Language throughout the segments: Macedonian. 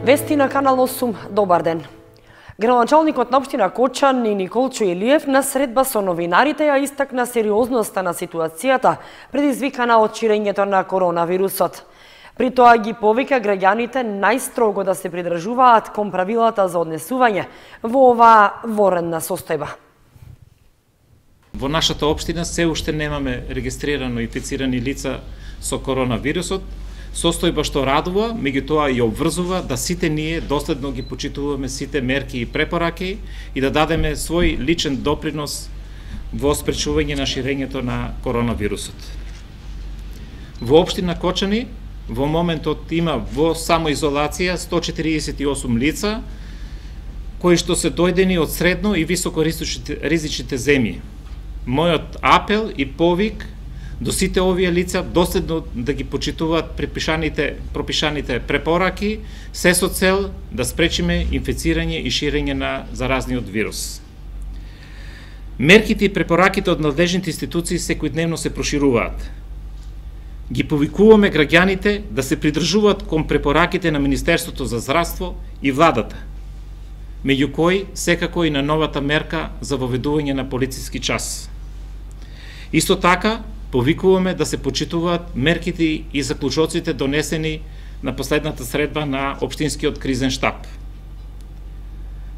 Вести на Канал 8, добар ден. Градоначалникот на општина Кочан и Николчо Илиев на средба со новинарите ја истакна сериозноста на ситуацијата предизвикана од ширењето на коронавирусот. При тоа ги повика граѓаните најстрого да се придржуваат кон правилата за однесување во оваа воредна состојба. Во нашата општина се уште немаме регистрирано инфицирани лица со коронавирусот, состојба што радува, меѓутоа и обврзува да сите ние доследно ги почитуваме сите мерки и препораки и да дадеме свој личен допринос во спречување на ширењето на коронавирусот. Во општина Кочани во моментот има во самоизолација 148 лица кои што се дојдени од средно и високо ризичните земји. Мојот апел и повик до сите овие лица доследно да ги почитуваат пропишаните препораки, се со цел да спречиме инфицирање и ширење на заразниот вирус. Мерките и препораките од надлежните институции секојдневно се прошируваат. Ги повикуваме граѓаните да се придржуваат кон препораките на Министерството за здравство и владата, меѓу кои секако и на новата мерка за воведување на полициски час. Исто така, повикуваме да се почитуваат мерките и заклучоците донесени на последната средба на општинскиот кризен штаб.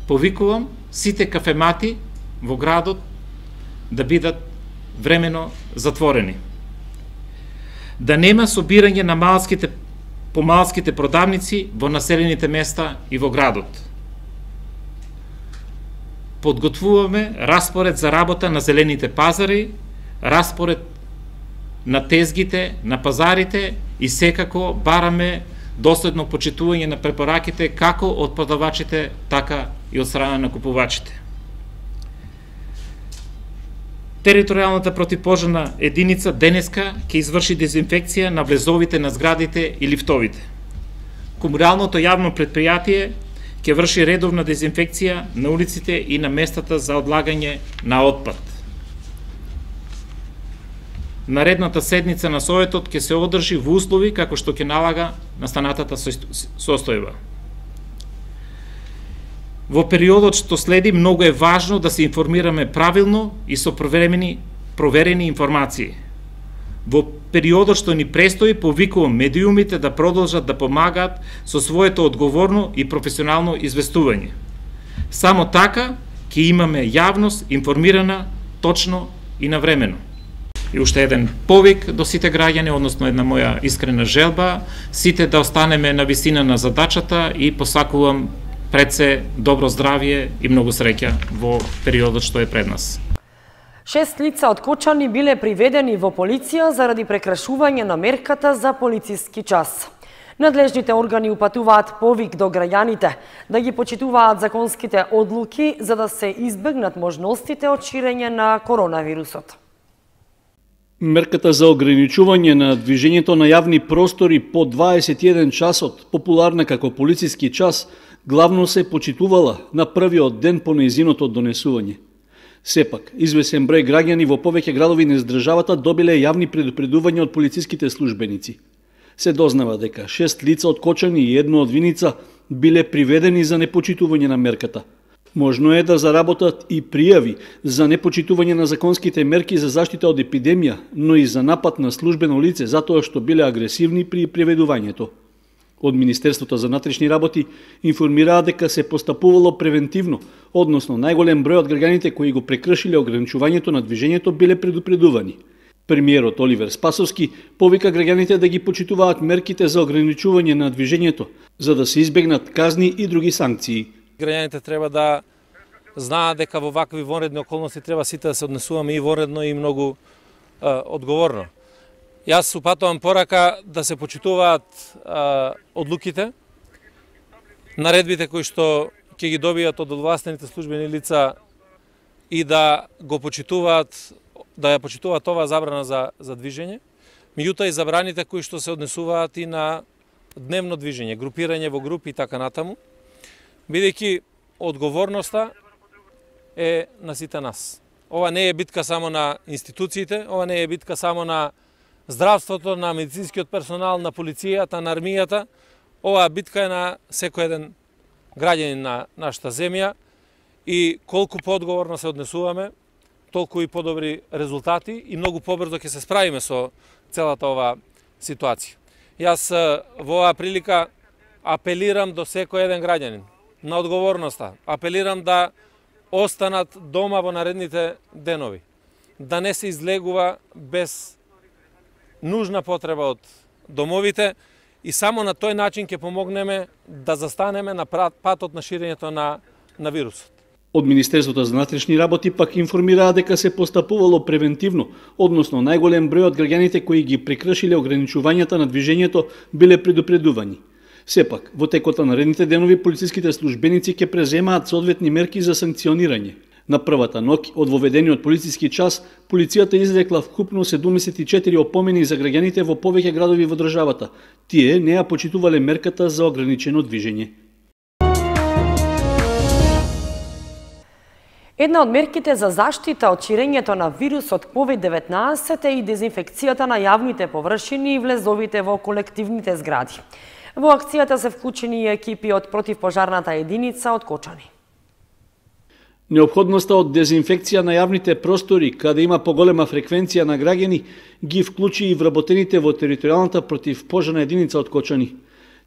Повикувам сите кафемати во градот да бидат времено затворени. Да нема собирање на помалските продавници во населените места и во градот. Подготвуваме распоред за работа на зелените пазари, распоред на тезгите, на пазарите и секако бараме доследно почитување на препораките како од продавачите, така и од страна на купувачите. Територијалната противпожарна единица денеска ќе изврши дезинфекција на влезовите на зградите и лифтовите. Комуналното јавно предпријатие ќе врши редовна дезинфекција на улиците и на местата за одлагање на отпад. Наредната седница на Советот ќе се одржи во услови како што ќе налага настанатата состојба. Во периодот што следи многу е важно да се информираме правилно и со проверени информации. Во периодот што ни престои, повикувам медиумите да продолжат да помагаат со своето одговорно и професионално известување. Само така ќе имаме јавност информирана точно и навремено. И уште еден повик до сите граѓани, односно една моја искрена желба, сите да останеме на висина на задачата и посакувам пред се добро здравје и многу среќа во периодот што е пред нас. 6 лица од Кочани биле приведени во полиција заради прекрашување на мерката за полициски час. Надлежните органи упатуваат повик до граѓаните да ги почитуваат законските одлуки за да се избегнат можностите од ширење на коронавирусот. Мерката за ограничување на движењето на јавни простори по 21 часот, популарна како полициски час, главно се почитувала на првиот ден по нејзиното донесување. Сепак, извесен број граѓани во повеќе градови низ државата добиле јавни предупредувања од полициските службеници. Се дознава дека 6 лица од Кочани и едно од Виница биле приведени за непочитување на мерката. Можно е да заработат и пријави за непочитување на законските мерки за заштита од епидемија, но и за напад на службено лице затоа што биле агресивни при приведувањето. Од Министерството за внатрешни работи информираа дека се постапувало превентивно, односно најголем број од граѓаните кои го прекршиле ограничувањето на движењето биле предупредувани. Премиерот Оливер Спасовски повика граѓаните да ги почитуваат мерките за ограничување на движењето, за да се избегнат казни и други санкции. Граѓаните треба да знаат дека во вакви вонредни околности треба сите да се однесуваме и вонредно и многу одговорно. Јас упатувам порака да се почитуваат одлуките, наредбите кои што ќе ги добијат од овластените службени лица и да го почитуваат, да ја почитуваат оваа забрана за движење, меѓутоа и забраните кои што се однесуваат и на дневно движење, групирање во групи и така натаму, бидејќи одговорноста е на сите нас. Ова не е битка само на институциите, ова не е битка само на здравството, на медицинскиот персонал, на полицијата, на армијата. Оваа битка е на секој еден граѓанин на нашата земја и колку поодговорно се однесуваме, толку и подобри резултати и многу побрзо ќе се справиме со целата оваа ситуација. Јас во оваа прилика апелирам до секој еден граѓанин на одговорноста. Апелирам да останат дома во наредните денови. Да не се излегува без нужна потреба од домовите и само на тој начин ќе помогнеме да застанеме на патот на ширењето на вирусот. Од Министерството за внатрешни работи пак информираа дека се постапувало превентивно, односно најголем број од граѓаните кои ги прекршиле ограничувањата на движењето биле предупредувани. Сепак, во текот на наредните денови полициските службеници ќе преземаат соодветни мерки за санкционирање. На првата ноќ од воведениот полициски час, полицијата изрекла вкупно 74 опомени за граѓаните во повеќе градови во државата. Тие не ја почитувале мерката за ограничено движење. Една од мерките за заштита од ширењето на вирусот COVID-19 е и дезинфекцијата на јавните површини и влезовите во колективните згради. Во акцијата се вклучени и екипи од противпожарната единица од Кочани. Неопходноста од дезинфекција на јавните простори, каде има поголема фреквенција на граѓани, ги вклучи и вработените во територијалната противпожарна единица од Кочани.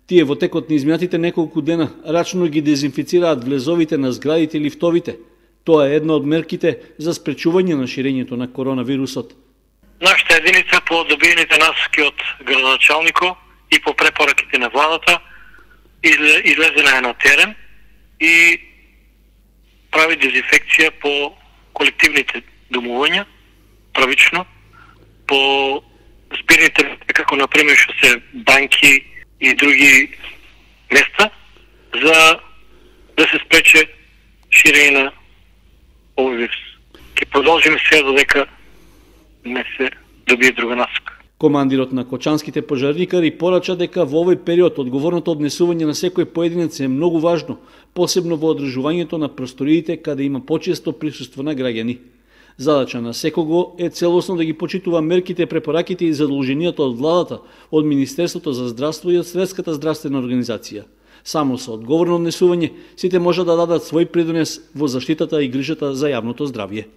Тие во текот на изминатите неколку дена рачно ги дезинфицираат влезовите на зградите и лифтовите. Тоа е една од мерките за спречување на ширењето на коронавирусот. Нашата единица по добиените насоки од градоначалникот и по препораките на владата излезена е на терен и прави дезинфекција по колективните домувања, правично, по збирните, како например што се банки и други места, за да се спрече ширење на овој вирус. Ќе продолжиме сега додека не се добие друга насока. Командирот на кочанските пожарникари порача дека во овој период одговорното однесување на секој поединец е многу важно, посебно во одржувањето на просториите каде има почесто присуство на граѓани. Задача на секого е целосно да ги почитува мерките, препораките и задолженијата од владата, од Министерството за здравство и од Светската здравствена организација. Само со одговорно однесување сите може да дадат свој придонес во заштитата и грижата за јавното здравје.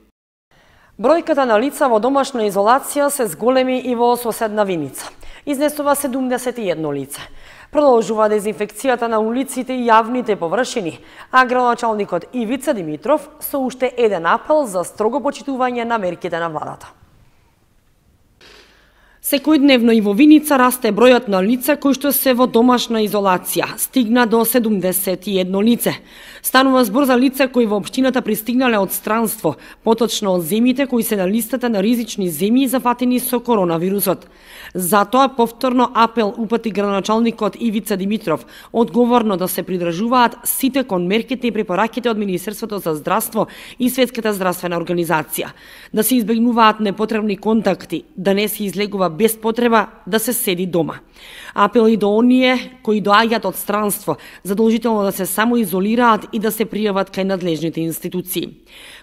Бројката на лица во домашна изолација се зголеми и во соседна Виница. Изнесува 71 лице. Продолжува дезинфекцијата на улиците и јавните површини, а градоначалникот Ивица Димитров со уште еден апел за строго почитување на мерките на владата. Секојдневно и во Виница расте бројот на лица кои што се во домашна изолација, стигна до 71 лице. Станува збор за лица кои во општината пристигнале од странство, поточно од земјите кои се на листата на ризични земји зафатени со коронавирусот. Затоа повторно апел упати градоначалникот Ивица Димитров, одговорно да се придржуваат сите кон мерките и препораките од Министерството за здравство и Светската здравствена организација, да се избегнуваат непотребни контакти, да не се излегува без потреба, да се седи дома. Апел и до оние кои доаѓаат од странство, задолжително да се самоизолираат и да се пријават кај надлежните институции.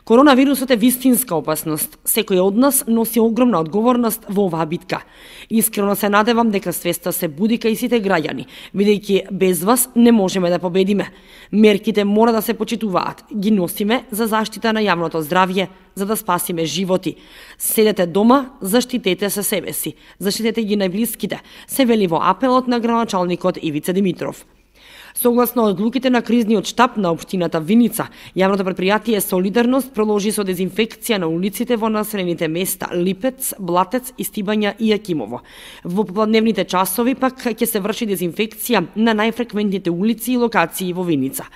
Коронавирусот е вистинска опасност. Секој од нас носи огромна одговорност во оваа битка. Искрено се надевам дека свеста се буди кај сите граѓани, бидејќи без вас не можеме да победиме. Мерките мора да се почитуваат. Ги носиме за заштита на јавното здравје, за да спасиме животи. Седете дома, заштитете се себе си, заштитете ги најблиските, се вели во апелот на градоначалникот Ивица Димитров. Согласно одлуките на кризниот штаб на општината Виница, јавното предпријатие Солидарност продолжи со дезинфекција на улиците во населените места Липец, Блатец, Истибања и Јакимово. Во попладневните часови пак ќе се врши дезинфекција на најфреквентните улици и локации во Виница.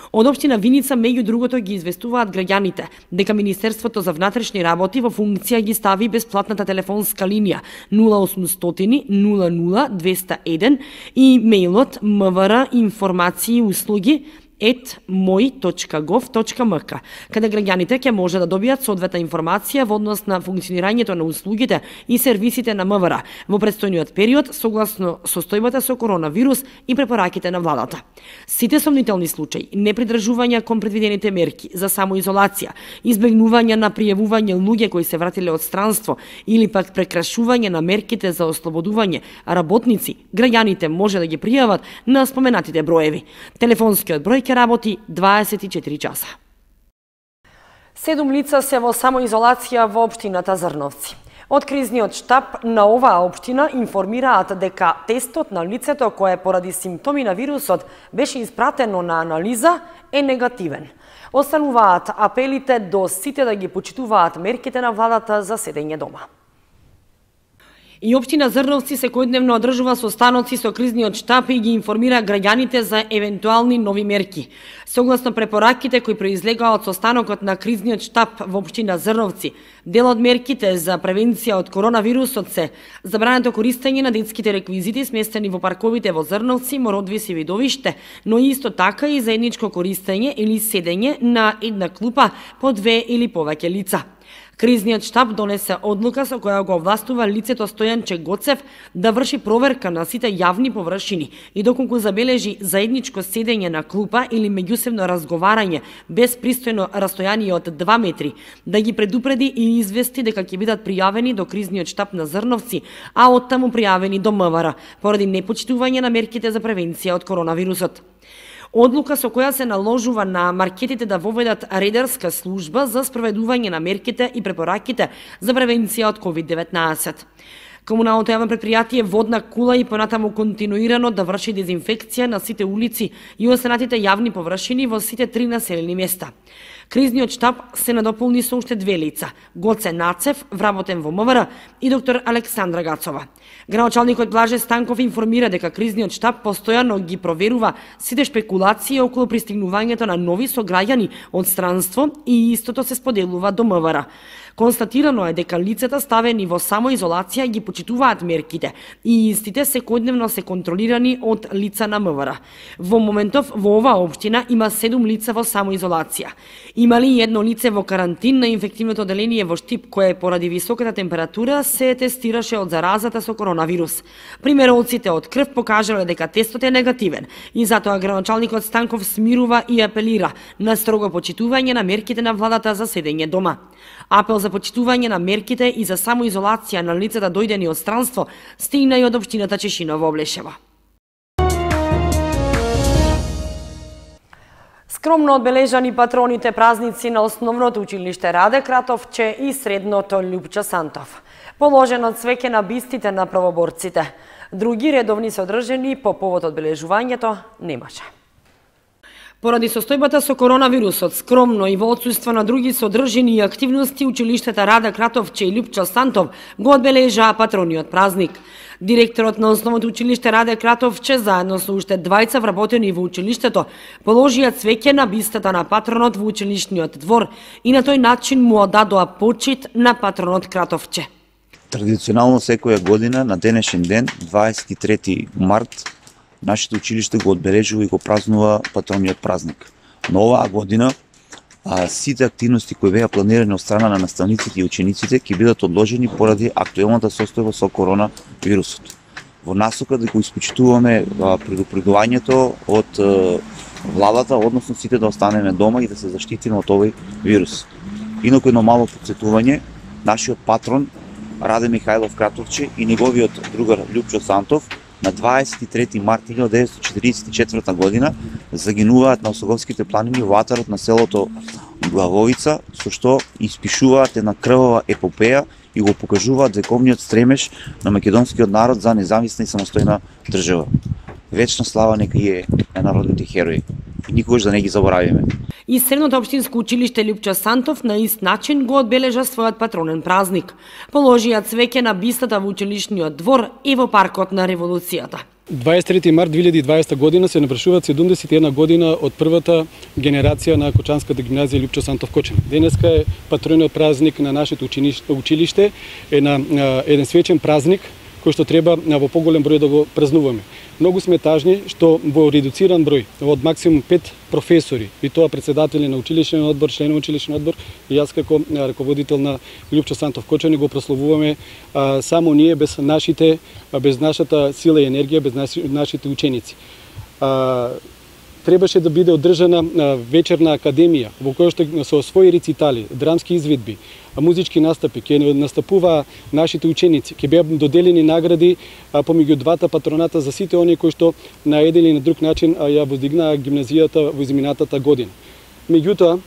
Од општина Виница, меѓу другото, ги известуваат граѓаните дека Министерството за внатрешни работи во функција ги стави бесплатната телефонска линија 0800 00 201 и мејлот mvr информации и услуги @moi.gov.mk, каде граѓаните ќе може да добијат соодветна информација во однос на функционирањето на услугите и сервисите на МВР во предстојниот период согласно состојбата со коронавирус и препораките на владата. Сите сомнителни случаи, непридржување кон предвидените мерки за самоизолација, избегнување на пријавување луѓе кои се вратиле од странство или пак прекрашување на мерките за ослободување работници, граѓаните може да ги пријават на споменатите броеви. Телефонскиот број ќе работи 24 часа. 7 лица се во самоизолација во општината Зрновци. Од кризниот штаб на оваа општина информираат дека тестот на лицето кое поради симптоми на вирусот беше испратено на анализа е негативен. Остануваат апелите до сите да ги почитуваат мерките на владата за седење дома. И општина Зрновци секојдневно одржува состаноци со кризниот штаб и ги информира граѓаните за евентуални нови мерки. Согласно препораките кои произлегаа од состанокот на кризниот штаб во општина Зрновци, дел од мерките за превенција од коронавирусот се забрането користење на детските реквизити сместени во парковите во Зрновци, Мородвис и Видовиште, но исто така и заедничко користење или седење на една клупа по 2 или повеќе лица. Кризниот штаб донесе одлука со која го овластува лицето Стојанче Гоцев да врши проверка на сите јавни површини и доколку забележи заедничко седење на клупа или меѓусебно разговарање без пристојно растојание од 2 метри, да ги предупреди и извести дека ќе бидат пријавени до кризниот штаб на Зрновци, а оттаму пријавени до МВР поради непочитување на мерките за превенција од коронавирусот. Одлука со која се наложува на маркетите да воведат редарска служба за спроведување на мерките и препораките за превенција од COVID-19. Комуналното јавно предпријатие Водна кула и понатаму континуирано да врши дезинфекција на сите улици и останатите јавни површини во сите 3 населени места. Кризниот штаб се надополни со уште 2 лица, Гоце Нацев, вработен во МВР, и доктор Александра Гацова. Градоначалникот Блаже Станков информира дека кризниот штаб постојано ги проверува сите шпекулации околу пристигнувањето на нови сограѓани од странство и истото се споделува до МВР. Констатирано е дека лицата ставени во самоизолација ги почитуваат мерките и истите секојдневно се контролирани од лица на МВР. Во моментов во оваа општина има 7 лица во самоизолација. Има ли едно лице во карантин на инфективното оделение во Штип кое поради високата температура се тестираше од заразата со коронавирус. Примероците од крв покажале дека тестот е негативен и затоа градоначалникот Станков смирува и апелира на строго почитување на мерките на владата за седење дома. Апел за почитување на мерките и за самоизолација на лицата дојдени од странство стигна и од општината Чешиново Облешева. Скромно одбележани патроните празници на Основното училиште Раде Кратовче и Средното Љупчо Сантов. Положено цвеќе на бистите на правоборците. Други редовни се одржани по повод одбележувањето немаше. Поради состојбата со коронавирусот, скромно и во отсуство на други содржини и активности, училиштата Раде Кратовче и Љупчо Сантов го одбележаа патрониот празник. Директорот на Основното училиште Раде Кратовче, заедно со уште 2 вработени во училиштето, положија цвеќе на бистата на патронот во училишниот двор и на тој начин му одадоа почит на патронот Кратовче. Традиционално секоја година на денешен ден, 23 март, нашето училиште го одбележува и го празнува патрониот празник. Но оваа година сите активности кои беа планирани од страна на наставниците и учениците ќе бидат одложени поради актуелната состојба со коронавирусот. Во насока да го испочитуваме предупредувањето од владата, односно сите да останеме дома и да се заштитиме од овој вирус. Инаку едно мало потсетување, нашиот патрон Раде Михајлов Кратовче и неговиот другар Љупчо Сантов на 23 март 1944 година загинуваат на Осоговските планини во атарот на селото Главовица, со што испишуваат една крвава епопеја и го покажуваат вековниот стремеж на македонскиот народ за независна и самостојна држава. Вечна слава нека е на народните херои и никогаш да не ги заборавиме. И Средното општинско училиште Љупчо Сантов на ист начин го одбележа својот патронен празник. Положија цвеќе на бистата во училишниот двор и во паркот на Револуцијата. 23 март 2020 година се навршуваат 71 година од првата генерација на Кочанската гимназија Љупчо Сантов Кочан. Денеска е патрониот празник на нашето училиште, еден свечен празник кој што треба во поголем број да го празнуваме. Многу сме тажни што во редуциран број, од максимум 5 професори, и тоа председатели на училишен одбор, членови на училишен одбор, и јас како раководител на Лјупчо Сантов Кочани го прославуваме само ние, без нашата сила и енергија, без нашите ученици. Требаше да биде одржана вечерна академија во која што со своји рецитали, драмски изведби, музички настапи ќе настапува нашите ученици, ќе беа доделени награди помеѓу двата патроната за сите оние кои што на еден или на друг начин ја воздигнаа гимназијата во изминатата година. Меѓутоа,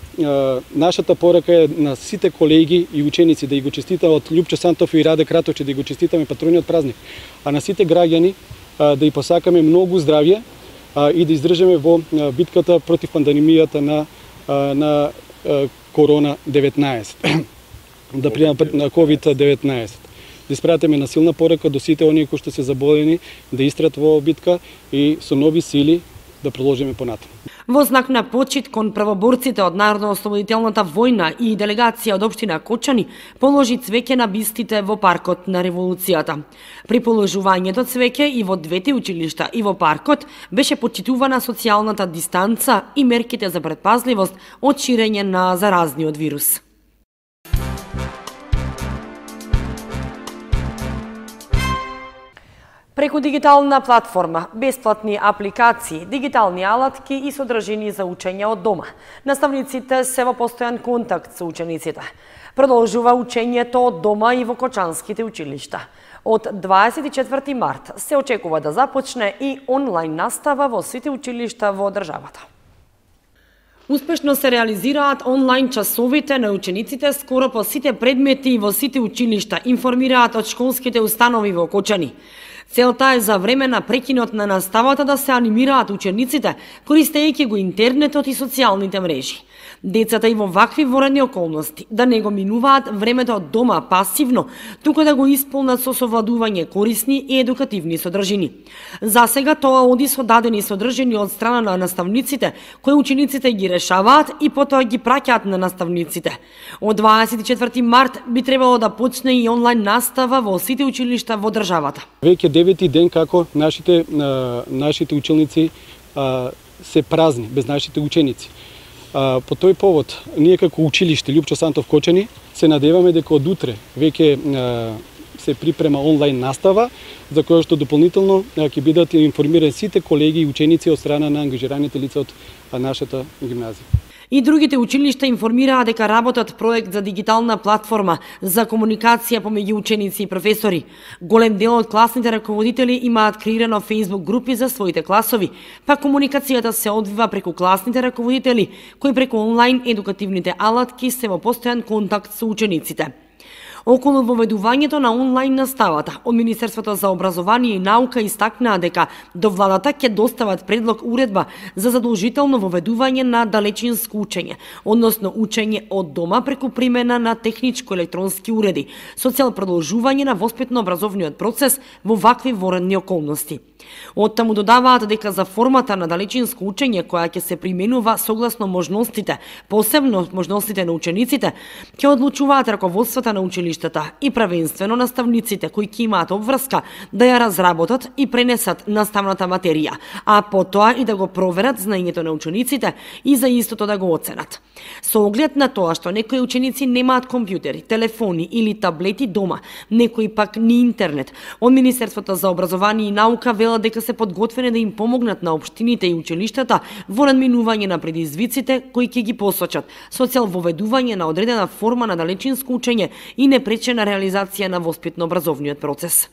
нашата порака е на сите колеги и ученици да ги го честитаат Лјупчо Сантов и Раде Кратовче, да ги го честитаме патрониот празник, а на сите граѓани да ги посакаме многу здравје и да издржаме во битката против пандемијата на корона-19, на COVID-19. Да испратиме на силна порака до сите оние кои што се заболени да истраат во битка и со нови сили да продолжиме понатаму. Во знак на почит кон правоборците од Народно-ослободителната војна и делегација од општина Кочани положи цвеќе на бистите во паркот на револуцијата. При положувањето цвеќе и во двете училишта и во паркот беше почитувана социјалната дистанца и мерките за предпазливост од ширење на заразниот вирус. Преку дигитална платформа, бесплатни апликации, дигитални алатки и содржини за учење од дома, наставниците се во постојан контакт со учениците. Продолжува учењето од дома и во кочанските училишта. Од 24 март се очекува да започне и онлайн настава во сите училишта во државата. Успешно се реализираат онлайн часовите на учениците скоро по сите предмети во сите училишта, информираат од школските установи во Кочани. Целта е за време на прекинот на наставата да се анимираат учениците, користејќи го интернетот и социјалните мрежи. Децата и во вакви воредни околности да не го минуваат времето од дома пасивно, туку да го исполнат со совладување корисни и едукативни содржини. За сега тоа оди со дадени содржини од страна на наставниците, кои учениците ги решаваат и потоа ги праќаат на наставниците. Од 24 март би требало да почне и онлайн настава во сите училишта во државата. Веќе 9-ти ден како нашите ученици се празни без нашите ученици. По тој повод, ние како училиште Лјупчо Сантов Кочани се надеваме дека од утре веќе се припрема онлайн настава, за која што дополнително ќе бидат информирани сите колеги и ученици од страна на ангажираните лица од нашата гимназија. И другите училишта информираа дека работат проект за дигитална платформа за комуникација помеѓу ученици и професори. Голем дел од класните раководители имаат креирано Facebook групи за своите класови, па комуникацијата се одвива преку класните раководители, кои преку онлайн едукативните алатки се во постојан контакт со учениците. Околу воведувањето на онлайн наставата, од Министерството за образование и наука истакнаа дека до владата ќе достават предлог уредба за задолжително воведување на далечинско учење, односно учење од дома преку примена на техничко-електронски уреди, со цел продолжување на воспитно-образовниот процес во вакви воредни околности. Оттаму додаваат дека за формата на далечинско учење која ќе се применува согласно можностите, посебно можностите на учениците, ќе одлучуваат раководствата на училиштата и правенствено наставниците кои ќе имаат обврска да ја разработат и пренесат наставната материја, а потоа и да го проверат знаењето на учениците и за истото да го оценат. Со оглед на тоа што некои ученици немаат компјутери, телефони или таблети дома, некои пак ни интернет, од Министерството за образование и наука велат дека се подготвени да им помогнат на општините и училиштата во надминување на предизвиците кои ќе ги посочат, со цел воведување на одредена форма на далечинско учење и непречена реализација на воспитно-образовниот процес.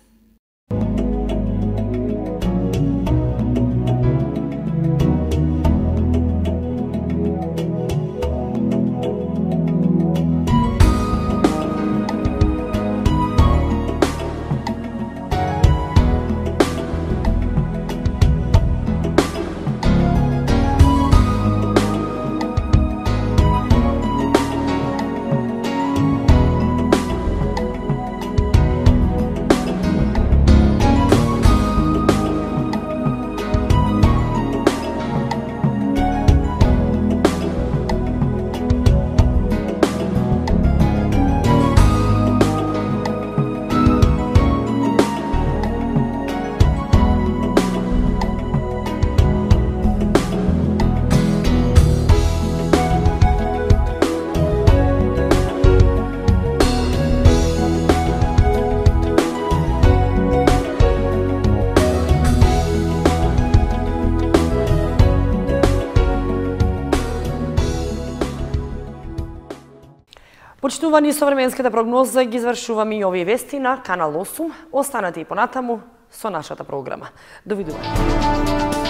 Почитувани со временската прогноза ги извршуваме и овие вести на Канал 8. Останете и понатаму со нашата програма. Довидување.